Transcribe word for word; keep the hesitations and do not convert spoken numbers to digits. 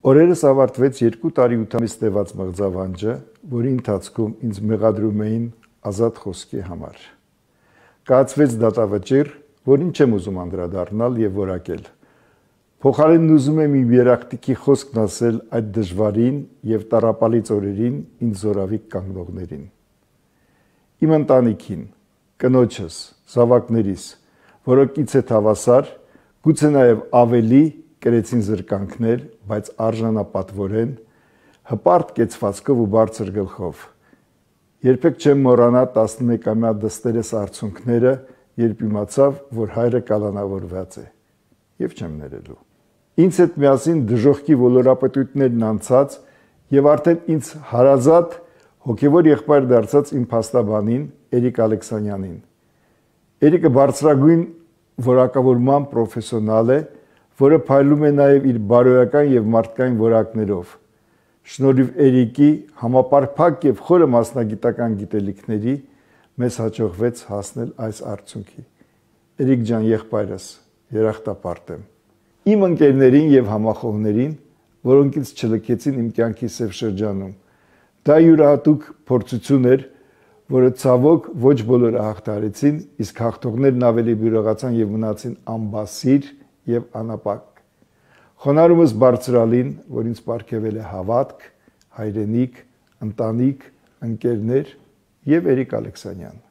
Օրերս ավարտվեց երկու տարի ութ ամիս տևած մղձավանջը, որի ընթացքում ինձ մեղադրում էին ազատ խոսքի համար։ Կայացվեց դատավճիռ, որին չեմ ուզում անդրադառնալ եւ որակել։ Փոխարենն ուզում եմ իմ երախտիկի խոսքն ասել այդ դժվարին եւ տառապալից օրերին ինձ զորավիկ կանգնողներին։ Իմ ընտանիքին, կնոջս, զավակներիս, որոնքից հետ հավասար, գուցե նաեւ ավելի կրեցին զրկանքներ, բայց արժանապատվորեն, հպարտ կեցվածքով ու բարձր գլխով։ Երբեք չեմ մոռանա տասնմեկամյա դստերես արցունքները, երբ իմացավ, որ հայրը կալանավորված է, եւ չեմ ներելու։ Ինձ հետ միասին դժոխքի ոլորապետույթներն անցած եւ արդեն ինձ հարազատ հոգեվոր եղբայր դարձած իմ փաստաբանին Էրիկ Ալեքսանյանին։ Էրիկը բարձրագույն որակավորման պրոֆեսիոնալ է, որը փայլում է նաև իր բարոյական եւ մարդկային որակներով։ Շնորհիվ Էրիկի համապարփակ եւ խորը մասնագիտական գիտելիքների մեզ հաջողվեց հասնել այս արդյունքի։ Էրիկ ջան, եղբայրս, երախտապարտ եմ։ Իմ ընկերներին եւ համախոհներին, որոնք ինձ չլքեցին իմ կյանքի սև շրջանում։ Դա յուրահատուկ փորձություն էր, որը ցավոք ոչ բոլորը հաղթարեցին, իսկ հաղթողներն ավելի բյուրեղացան եւ մնացին անբասիր եւ անապակ։ Խոնարհումս բարձրալին, որ ինձ պարգևել է հավատք, հայրենիք, ընտանիք, ընկերներ եւ Էրիկ Ալեքսանյան։